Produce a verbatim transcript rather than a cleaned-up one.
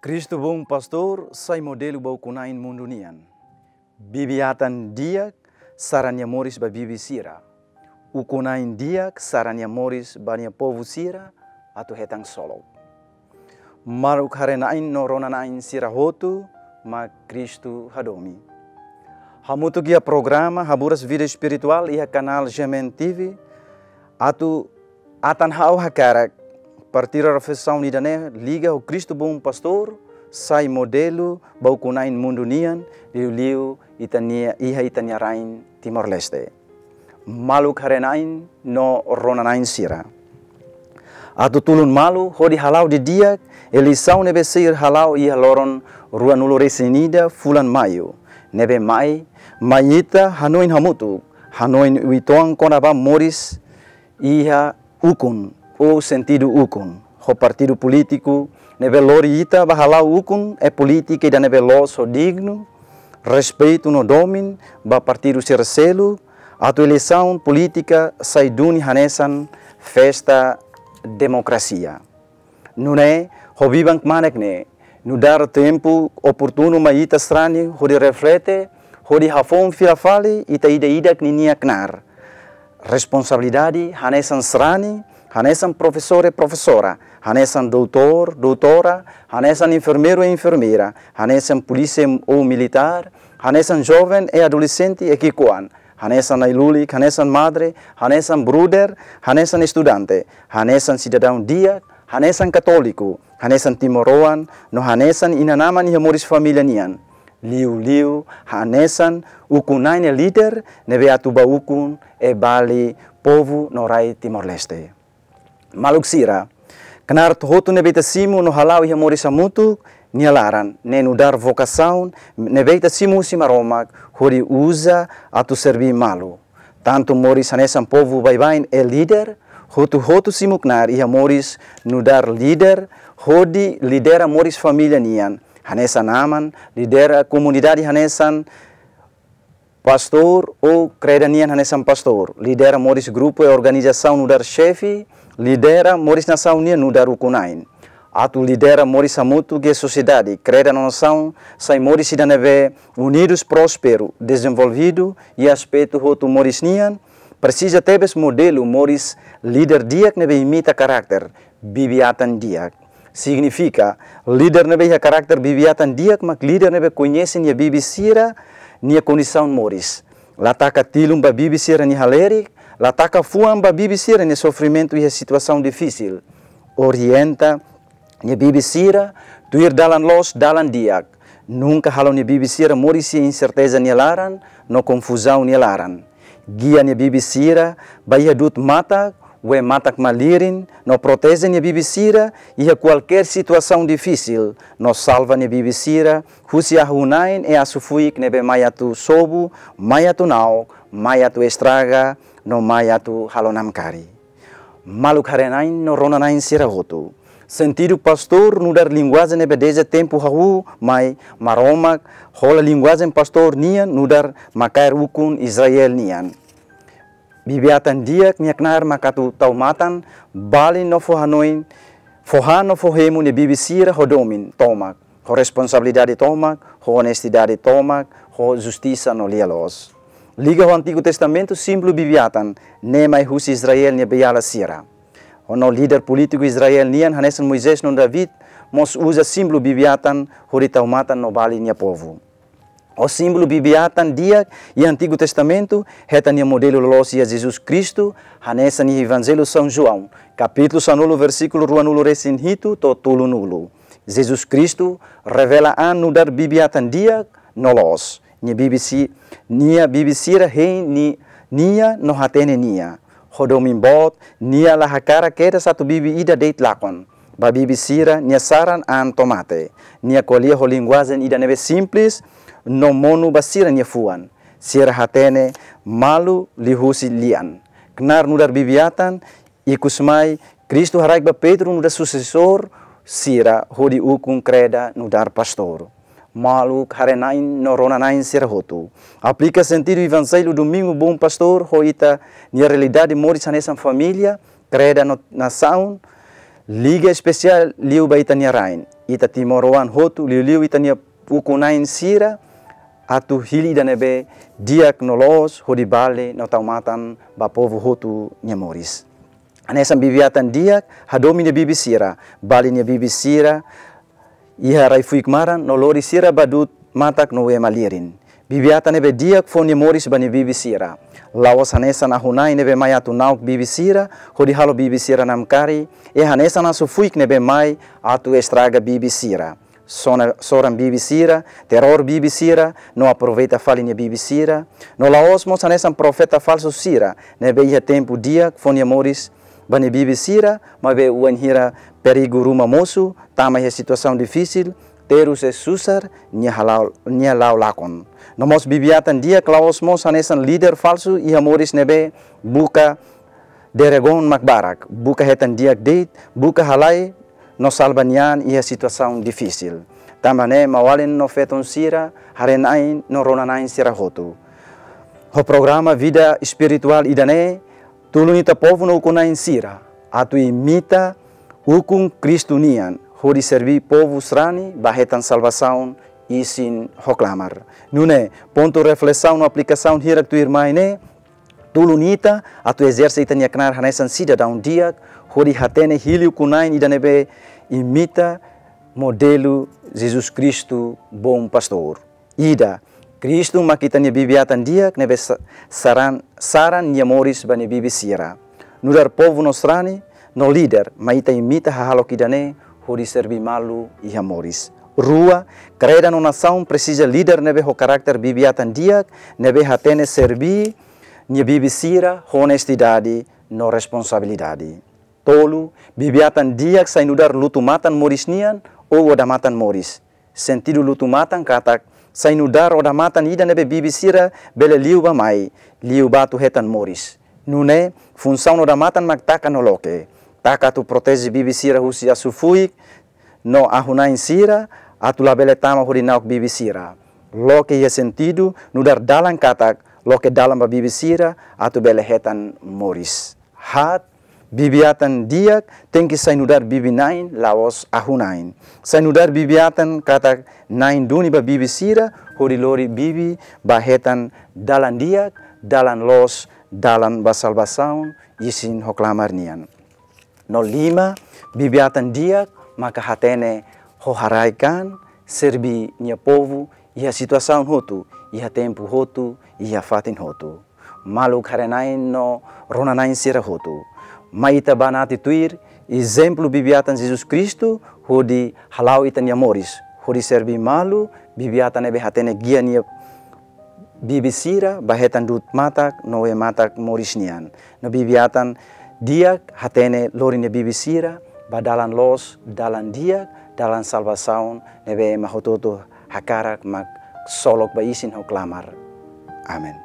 Kristu Bom Pastór sai modelu ba ukun-na'in mundu nian. Bibi-atan di'ak sara nia moris ba bibi sira. Ukun-na'in di'ak sara nia moris ba nia povu sira atu hetan ksolok. Maluk haree-na'in no rona-na'in sira hotu mak Kristu hadomi. Hamutuk iha programa Haburas Vida Espirituál iha kanál G M N T V, atu atan ha'u hakarak partilla reflesaun ida-ne'e liga ho Kristu Bom Pastór sai modelu ba ukun-na'in mundu nian, liuliu ita-nia, iha ita-nia rain Timor-Leste. Maluk haree-na'in no rona-na'in sira. Atu tulun malu hodi hala'o didi'ak eleisaun ne'ebé sei hala'o iha loron ruanulu-resin-ida fulan Maiu ne'ebé mai, mai ita hanoin hamutuk, hanoin uitoan kona-ba moris iha ukun, ou sentidu ukun, ho partidu polítiku ne'ebé lori ita ba hala'o ukun, eh, polítika ida ne'ebé loos ho dignu, respeitu no domin ba partidu sira seluk, atu eleisaun polítika sai duni hanesan festa demokrasia. Nune'e, ho biban kmanek ne'e, nu'udar tempu oportunu mai ita sarani hodi reflete, hodi hafoun fila fali ita ida-idak ninia knaar. Responsabilidade hanesan sarani, hanesan profesór, profesora, hanesan doutór, doutora, hanesan enfermeiru, enfermeira, hanesan polísia ou militár, hanesan joven e adolexente e ki'ikoan, hanesan ai-lulik, hanesan madre, hanesan brother, hanesan estudante, hanesan sidadaun di'ak, hanesan katóliku, hanesan timoroan, no hanesan inan-aman iha moris família nian. Liuliu hanesan ukun-na'in líder ne'ebé atu ba ukun e bali povu no rai Timor-Leste. Maluk sira, knaar hotu ne'ebé ita simu no hala'o iha moris hamutuk nia laran, ne'e nu'udar vokasaun ne'ebé ita simu husi Maromak hodi uza atu serbí malu. Tantu moris hanesan povu baibain e líder, hotu-hotu simu knaar iha moris nu'udar líder, hodi lidera moris família nian, hanesan aman, lidera komunidade hanesan pastór ou kreda nian hanesan pastór, lidera moris grupu e organizasaun nu'udar xefe, lidera moris nasaun nian nu'udar ukun-na'in. Atu lidera moris hamutuk iha sosiedade, kreda no nasaun, sai moris ida ne'ebé unidus, prósperu, dezenvolvidu iha aspetu hotu moris nian, presiza tebes modelu moris líder di'ak ne'ebé imita karakter bibi-atan di'ak. Signifika, líder ne'ebé iha karakter bibi-atan di'ak mak líder ne'ebé koñese nia bibi sira nia kondisaun moris. La taka tilun ba bibi sira-nia halerik, la taka fuan ba bibi sira-nia sofrimentu iha situasaun difisil. Orienta nia bibi sira tuir dalan loos, dalan di'ak. Nunka halo nia bibi sira moris iha inserteza nia laran no konfuzaun nia laran. Gia nia bibi sira ba iha du'ut matak, wee matak malirin, no proteje nia bibi sira iha kualkér situasaun difisil, no salva nia bibi sira husi ahu-na'in e asu-fuik ne'ebé mai atu sobu, mai atu na'ok, mai atu estraga, no mai atu halo namkari. Maluk haree-na'in no rona-na'in sira hotu. Sentidu pastór nu'udar linguajen ne'ebé dezde tempu hahú mai Maromak hola linguajen pastór nian nu'udar makaer ukun Israel nian. Bibi-atan di'ak nia knaar mak atu tau matan, bali no fó hanoin, fó han no fó hemu nia bibi sira ho domin tomak, ho responsabilidade tomak, ho onestidade tomak, ho justisa no lia-loos. Liga ho Antigu Testamentu, símbolu bibi-atan ne'e mai husi Israel nia beiala sira. Ho no líder polítiku Israel nian hanesan Moisés no David mós uza símbolu bibi-atan hodi tau matan no bali nia povu. Ho símbolu bibi-atan di'ak iha Antigu Testamentu, hetan nia modelu loloos iha Jesus Kristu, hanesan iha Evanjellu São João, kapítulu sanulu, versíkulu ruanulu-resin-hitu to'o tolunulu. Jesus Kristu revela an nu'udar bibi-atan di'ak no loos. Nia bibi si-, nia bibi sira hein ni-, nia no hatene nia. Ho domin boot, nia la hakarak kedas atu bibi ida de'it lakon. Ba bibi sira, nia saran an tomate. Nia ko'alia ho linguajen ida ne'ebé simples no monu ba sira-nia fuan. Sira hatene malu liuhusi lian. Knaar nu'udar bibi-atan, ikusmai, Kristu haraik ba Pedro nu'udar susesór sira hodi ukun, kreda nu'udar pastór. Maluk haree-na'in no rona-na'in sira hotu. Aplika sentidu Evanjellu Domingu Bom Pastór ho ita-nia realidade moris hanesan família, kreda no nasaun, Liga espesiál liu ba ita-nia rain, ita timoroan hotu, liuliu ita-nia ukun-na'in sira, atu hili ida ne'ebé di'ak no loos hodi bali no tau matan ba povu hotu nia moris. Hanesan bibi-atan di'ak hadomi nia bibi sira, bali nia bibi sira iha rai-fuik maran no lori sira ba du'ut matak no wema lirin. Bibi-atan ne'ebé di'ak fó nia moris ba nia bibi sira. La'ós hanesan ahu-na'in ne'ebé mai atu na'ok bibi sira hodi halo bibi sira namkari, i hanesan asu-fuik ne'ebé mai atu estraga bibi sira. Sona, soran bibi sira, teror bibi sira, no aproveita fali nia bibi sira. No la'ós mós hanesan profeta falsu sira ne'ebé iha tempu di'ak fó nia moris ba nia bibi sira, maibé wainhira perigu ruma mosu, tama iha situasaun difisil, terus susar nia hala'o, nia la'o lakon. No mós bibi-atan di'ak la'ós mós hanesan líder falsu iha moris ne'ebé buka deregon mak barak, buka hetan di'ak de'it, buka halai no salva nia an iha situasaun difisil. Tanba ne'e maun-alin no feton sira, haree-na'in no rona-na'in sira hotu, ho programa vida espirituál ida-ne'e, tulun ita povu no ukun-na'in sira atu imita ukun Kristu nian, hodi serví povu sarani ba hetan salvasaun isin ho klamar. Nune'e, pontu reflesaun no aplikasaun hirak tuirmai ne'e tulun ita atu ezerse ita-nia knaar hanesan sidadaun di'ak, hodi hatene hili ukun-na'in ida ne'ebé imita modelu Jesus Kristu, Bom Pastor. Ida, Kristu mak ita-nia bibi-atan di'ak ne'ebé sa-, saran, saran nia moris ba nia bibi sira. Nu'udar povu no sarani no líder, mai ita imita hahalok ida-ne'e hodi serví malu iha moris. Rua, kreda no nasaun presiza líder ne'ebé ho karakter bibi-atan di'ak, ne'ebé hatene serví nia bibi sira ho onestidade no responsabilidade. Tolu, bibi-atan di'ak sai nu'udar lutu-matan moris nian ou odamatan moris. Sentidu lutu-matan katak sai nu'udar odamatan ida ne'ebé bibi sira bele liu bá-mai, liu bá atu hetan moris. Nune'e, funsaun odamatan mak taka no loke. Taka atu proteje bibi sira husi asu-fuik no ahu-na'in sira, atu labele tama hodi na'ok bibi sira. Loke iha sentidu nu'udar dalan katak loke dalan ba bibi sira atu bele hetan moris. Haat, bibi-atan di'ak tenke sai nu'udar bibi-na'in, la'ós ahu-na'in. Sai nu'udar bibi-atan katak na'in duni ba bibi sira, hodi lori bibi ba hetan dalan di'ak, dalan loos, dalan ba salvasaun isin ho klamar nian. No lima, bibi-atan di'ak maka hatene ho haraik-an, serví nia povu iha situasaun hotu, iha tempu hotu, iha fatin hotu. Maluk haree-na'in no rona-na'in sira hotu, mai ita banati tuir ezemplu bibi-atan Jesus Kristu, hodi hala'o ita-nia moris, hodi serví malu bibi-atan ne'ebé hatene gia nia bibi sira ba hetan du'ut matak no wema matak moris nian. No bibi-atan di'ak hatene lori nia bibi sira ba dalan loos, dalan di'ak, dalan salvasaun ne'ebé ema hotu-hotu hakarak mak ksolok ba isin ho klamar. Amen.